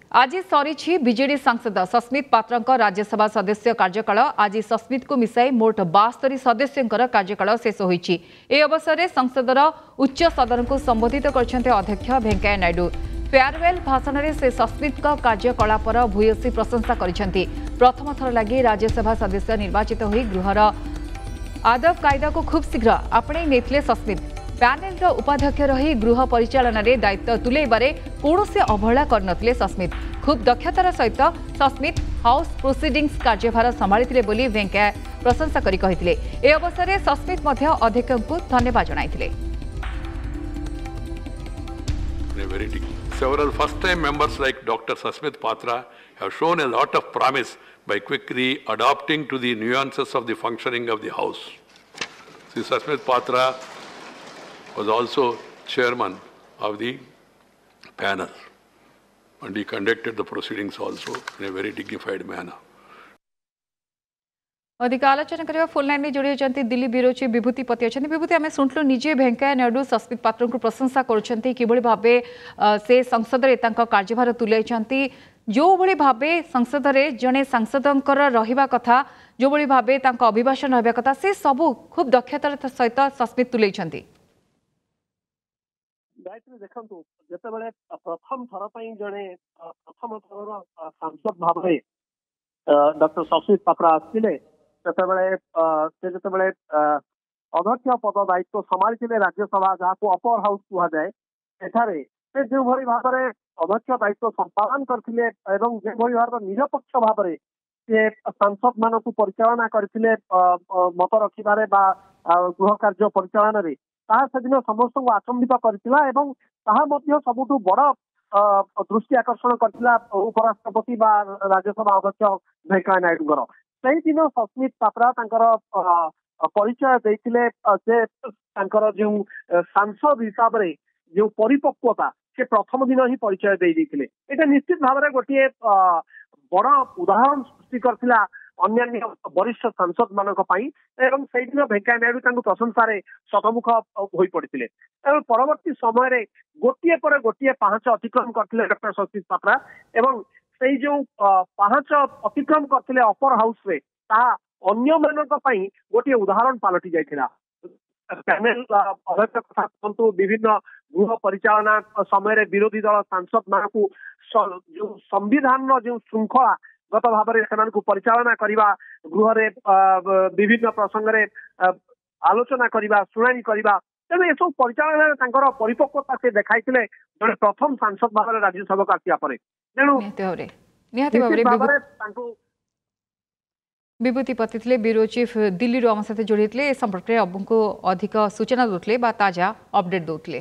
ଆଜି ସରିଛି ବିଜେଡି ସାଂସଦ ସସ୍ମିତ ପାତ୍ରଙ୍କ ରାଜ୍ୟସଭା ସଦସ୍ୟ କାର୍ଯ୍ୟକାଳ। ଆଜି ସସ୍ମିତଙ୍କୁ ମିଶାଇ ମୋଟ 72 ସଦସ୍ୟଙ୍କର କାର୍ଯ୍ୟକାଳ ଶେଷ ହୋଇଛି। ଏହି ଅବସରରେ ସଂସଦର ଉଚ୍ଚ ସଦନକୁ ସମ୍ବୋଧିତ କରିଛନ୍ତି ଅଧ୍ୟକ୍ଷ ଭେଙ୍କୟା ନାଇଡୁ। ଫେୟାରୱେଲ୍ ଭାଷଣରେ ସେ ସସ୍ମିତଙ୍କ କାର୍ଯ୍ୟକଳାପର ଭୂୟସୀ ପ୍ରଶଂସା କରିଛନ୍ତି। ପ୍ରଥମ ଥର ଲାଗି ରାଜ୍ୟସଭା ସଦସ୍ୟ ନିର୍ବାଚିତ ହୋଇ ଗୃହର ଆଦବ କାଇଦାକୁ ଖୁବ୍ ଶୀଘ୍ର ଆପଣେଇ ନେଇଥିଲେ ସସ୍ମିତ। ପ୍ୟାନେଲର ଉପାଧ୍ୟକ୍ଷ ରହି ଗୃହ ପରିଚାଳନାରେ ଦାୟିତ୍ୱ ତୁଲାଇବାରେ କୌଣସି ଅବହେଳା କରିନଥିଲେ ସସ୍ମିତ। ଖୁବ୍ ଦକ୍ଷତାର ସହିତ ସସ୍ମିତ ହାଉସ୍ ପ୍ରୋସିଡିଂସ୍ କାର୍ଯ୍ୟଭାର ସମ୍ଭାଳିଥିଲେ ବୋଲି ଭେଙ୍କୟା ପ୍ରଶଂସା କରି କହିଥିଲେ। ଏ ଅବସରରେ ସସ୍ମିତ ମଧ୍ୟ ଅଧ୍ୟକ୍ଷଙ୍କୁ ଧନ୍ୟବାଦ ଜଣାଇଥିଲେ। Several first-time members like Dr. Sasmit Patra have shown a lot of promise by quickly adapting to the nuances of the functioning of the House. Sri Sasmit Patra was also chairman of the panel, and he conducted the proceedings also in a very dignified manner. ଅଧିକ ଆଲୋଚନା କରିବା, phone ଲାଇନ୍ରେ ଯୋଡ଼ି ହେଉଛନ୍ତି Delhi bureau chief ବିଭୂତି ପତି ଅଛନ୍ତି। ବିଭୂତି, ଆମେ ଶୁଣିଲୁ ନିଜେ ଭେଙ୍କୟା ନାଇଡୁ ସସ୍ମିତ ପାତ୍ରଙ୍କୁ ପ୍ରଶଂସା କରୁଛନ୍ତି, କିଭଳି ଭାବେ ସେ ସଂସଦରେ ତାଙ୍କ କାର୍ଯ୍ୟଭାର ତୁଲାଇଛନ୍ତି, ଯେଉଁଭଳି ଭାବେ ସଂସଦରେ ଜଣେ ସାଂସଦଙ୍କର ରହିବା କଥା, ଯେଉଁଭଳି ଭାବେ ତାଙ୍କ ଅଭିଭାଷଣ ରହିବା କଥା, ସେ ସବୁ ଖୁବ୍ ଦକ୍ଷତାର ସହିତ ସସ୍ମିତ ତୁଲାଇଛନ୍ତି। ଗାୟତ୍ରୀ, ଦେଖନ୍ତୁ, ଯେତେବେଳେ ପ୍ରଥମ ଥର ପାଇଁ ଜଣେ ପ୍ରଥମ ଥରର ସାଂସଦ ଭାବରେ ଡକ୍ଟର ସସ୍ମିତ ପାତ୍ର ଆସିଥିଲେ, ସେତେବେଳେ ସେ ଯେତେବେଳେ ଅଧ୍ୟକ୍ଷ ପଦ ଦାୟିତ୍ୱ ସମ୍ଭାଳିଥିଲେ ରାଜ୍ୟସଭା, ଯାହାକୁ ଅପର ହାଉସ କୁହାଯାଏ, ସେଠାରେ ସେ ଯେଉଁଭଳି ଭାବରେ ଅଧ୍ୟକ୍ଷ ଦାୟିତ୍ୱ ସମ୍ପାଦନ କରିଥିଲେ ଏବଂ ଯେଉଁଭଳି ଭାବରେ ନିରପେକ୍ଷ ଭାବରେ ସେ ସାଂସଦ ମାନଙ୍କୁ ପରିଚାଳନା କରିଥିଲେ ମତ ରଖିବାରେ ବା ଗୃହ କାର୍ଯ୍ୟ ପରିଚାଳନାରେ, ତାହା ସେଦିନ ସମସ୍ତଙ୍କୁ ଆଚମ୍ବିତ କରିଥିଲା ଏବଂ ତାହା ମଧ୍ୟ ସବୁଠୁ ବଡ ଦୃଷ୍ଟି ଆକର୍ଷଣ କରିଥିଲା ଉପରାଷ୍ଟ୍ରପତି ବା ରାଜ୍ୟସଭା ଅଧ୍ୟକ୍ଷ ଭେଙ୍କୟା ନାଇଡୁଙ୍କର। ସେଇଦିନ ସସ୍ମିତ ପାତ୍ରା ତାଙ୍କର ପରିଚୟ ଦେଇଥିଲେ ଯେ ତାଙ୍କର ଯେଉଁ ସାଂସଦ ହିସାବରେ ଯେଉଁ ପରିପକ୍ୱତା, ସେ ପ୍ରଥମ ଦିନ ହିଁ ପରିଚୟ ଦେଇ ଦେଇଥିଲେ। ଏଇଟା ନିଶ୍ଚିତ ଭାବରେ ଗୋଟିଏ ବଡ ଉଦାହରଣ ସୃଷ୍ଟି କରିଥିଲା ଅନ୍ୟାନ୍ୟ ବରିଷ୍ଠ ସାଂସଦ ମାନଙ୍କ ପାଇଁ ଏବଂ ସେଇଦିନ ଭେଙ୍କୟା ନାଇଡୁ ତାଙ୍କୁ ପ୍ରଶଂସାରେ ଶତମୁଖ ହୋଇ ପଡିଥିଲେ। ଏବଂ ପରବର୍ତ୍ତୀ ସମୟରେ ଗୋଟିଏ ପରେ ଗୋଟିଏ ପାହାଚ ଅତିକ୍ରମ କରିଥିଲେ ଡକ୍ଟର ସସ୍ମିତ ପାତ୍ରା ଏବଂ ସେଇ ଯୋଉ ପାହାଚ ଅତିକ୍ରମ କରିଥିଲେ ଅପର ହାଉସରେ, ତାହା ଅନ୍ୟମାନଙ୍କ ପାଇଁ ଗୋଟିଏ ଉଦାହରଣ ପାଲଟି ଯାଇଥିଲା। ପ୍ୟାନେଲ ଅଧ୍ୟକ୍ଷ କଥା କୁହନ୍ତୁ, ବିଭିନ୍ନ ଗୃହ ପରିଚାଳନା ସମୟରେ ବିରୋଧୀ ଦଳ ସାଂସଦ ମାନଙ୍କୁ ଯୋଉ ସମ୍ବିଧାନର ଯେଉଁ ଶୃଙ୍ଖଳାଗତ ଭାବରେ ସେମାନଙ୍କୁ ପରିଚାଳନା କରିବା, ଗୃହରେ ବିଭିନ୍ନ ପ୍ରସଙ୍ଗରେ ଆଲୋଚନା କରିବା, ଶୁଣାଣି କରିବା, ତେଣୁ ଏସବୁ ପରିଚାଳନାରେ ତାଙ୍କର ପରିପକ୍ୱତା ସେ ଦେଖାଇଥିଲେ ଜଣେ ପ୍ରଥମ ସାଂସଦ ଭାବରେ ରାଜ୍ୟସଭାକୁ ଆସିବା ପରେ। ତେଣୁ ନିହାତି ଭାବରେ ତାଙ୍କୁ ବିଭୂତି ପତି ଥିଲେ ବ୍ୟୁରୋ ଚିଫ୍, ଦିଲ୍ଲୀରୁ ଆମ ସହିତ ଯୋଡ଼ି ହେଇଥିଲେ, ଏ ସମ୍ପର୍କରେ ଆମକୁ ଅଧିକ ସୂଚନା ଦେଉଥିଲେ ବା ତାଜା ଅପଡେଟ୍ ଦେଉଥିଲେ।